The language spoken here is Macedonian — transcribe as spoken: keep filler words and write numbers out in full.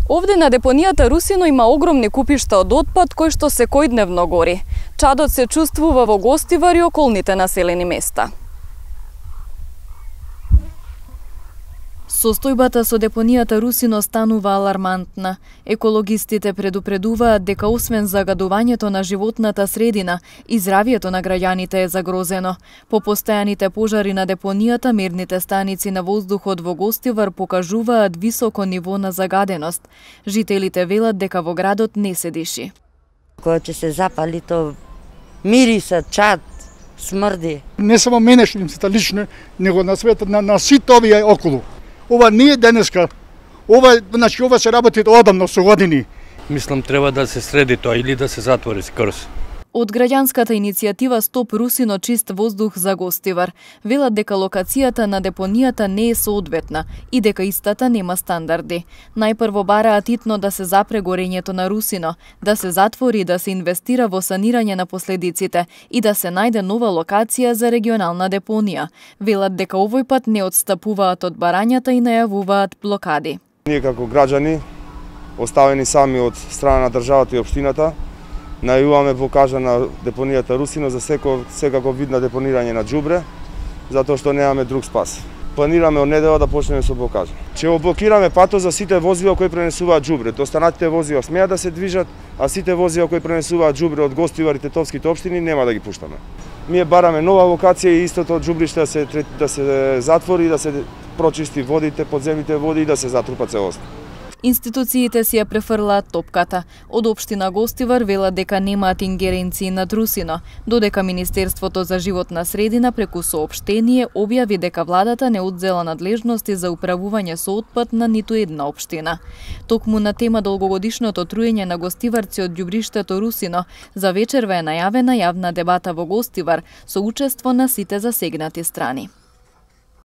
Овде на депонијата Русино има огромни купишта од отпад кои што секојдневно гори. Чадот се чувствува во Гостивар и околните населени места. Состојбата со депонијата Русино станува алармантна. Екологистите предупредуваат дека освен загадувањето на животната средина, и здравието на граѓаните е загрозено. По постојаните пожари на депонијата, мерните станици на воздухот во Гостивар покажуваат високо ниво на загаденост. Жителите велат дека во градот не се диши. Кога ќе се запали, то мириса, чад, смрди. Не само мене што им се лично, него на светот, на, на сите овие околу. Ова не е денеска. Ова, значи, ова се работи одамно со години. Мислам треба да се среди тоа или да се затвори скрс. Од граѓанската иницијатива Стоп Русино чист воздух за Гостивар велат дека локацијата на депонијата не е соодветна и дека истата нема стандарди. Најпрво бараат итно да се запре горењето на Русино, да се затвори и да се инвестира во санирање на последиците и да се најде нова локација за регионална депонија. Велат дека овој пат не отстапуваат од барањата и најавуваат блокади. Ние како граѓани, оставени сами од страна на државата и општината, најавуваме блокажа на депонијата Русино за секо, секако вид на депонирање на џубре, затоа што немаме друг спас. Планираме од недела да почнеме со блокажа. Ќе блокираме патот за сите возила кои пренесуваат џубре. Останатите возила смеат да се движат, а сите возила кои пренесуваат џубре од Гостивар и Тетовските општини нема да ги пуштаме. Ние бараме нова локација и истото џубриште да се да се затвори, да се прочисти водите, подземните води и да се затрупа целосно. Институциите си ја префрлаат топката. Од општина Гостивар велат дека немаат ингеренции над Русино, додека Министерството за животна средина преку соопштение објави дека владата не одзела надлежности за управување со отпад на ниту една општина. Токму на тема долгогодишното труење на гостиварци од ѓубриштето Русино, за вечерва е најавена јавна дебата во Гостивар со учество на сите засегнати страни.